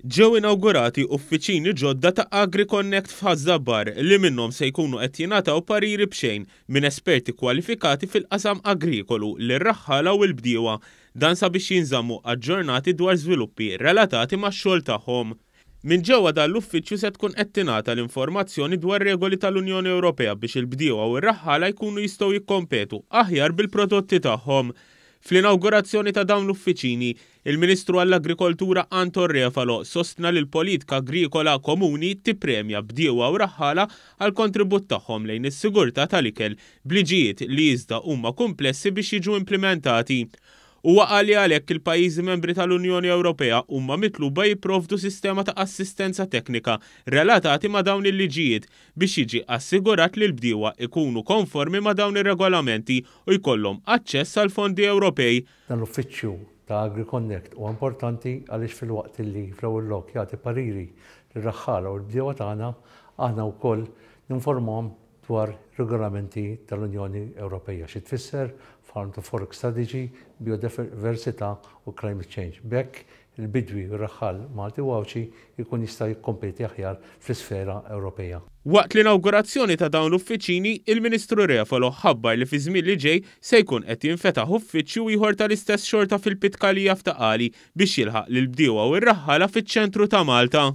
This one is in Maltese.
Ġew inawgurati uffiċini ġodda ta' AgriConnect f'Ħaż-Żabbar li minnhom se jkunu qed jingħataw pariri b'xejn minn esperti kwalifikati fil-qasam agrikolu lir-raħħala u l-bdiewa. Dan sabiex jinżammu aġġornati dwar żviluppi relatati max-xogħol tagħhom. Minn ġewwa dan l-uffiċċju se tkun qed tingħata l-informazzjoni dwar regoli tal-Unjoni Ewropea biex il-bdiewa u r-raħħala jkunu jistgħu jikkompetu aħjar bil-prodotti tagħhom. Fl-inawgurazzjoni ta' dawn l-uffiċini, Il-Ministru għall-Agrikoltura Anton Refalo sostna li l-politika agrikola komuni tippremja bdiewa u raħħala għall-kontribut tagħhom lejn is-sigurtà tal-ikel b'liġijiet li iżda huma kumplessi biex jiġu implimentati. Huwa qal li għalhekk il-pajjiżi membri tal-Unjoni Ewropea huma mitluba jipprovdu sistema ta' assistenza teknika relatati ma' dawn il-liġijiet biex jiġi assigurat li l-bdiewa jkunu konformi ma' dawn ir-regolamenti u jkollhom aċċess għall-fondi Ewropej. Dan l-uffiċċju ta' AgriConnect huwa importanti għaliex filwaqt li fl-ewwel lok jagħti pariri lir-raħħala u l-bdiewa tagħna, aħna wkoll ninformahom dwar regolamenti tal-Unjoni Ewropeja, xi tfisser Farm to Fork Strategy, Biodiversità u Climate Change. B'hekk il-bidwi u r-raħħal Malti u Għawdxi jkun jista' jikkompeti aħjar fl-isfera Ewropeja. Waqt l-inawgurazzjoni ta' dawn l-uffiċini, il-Ministru Refalo ħabbar li fiż-żmien li ġej se jkun qed jinfetaħ uffiċċju ieħor tal-istess xorta fil-Pitkalija f'Ta' Qali biex jilħaq lill-bdiewa u r-raħħala fiċ-ċentru ta' Malta.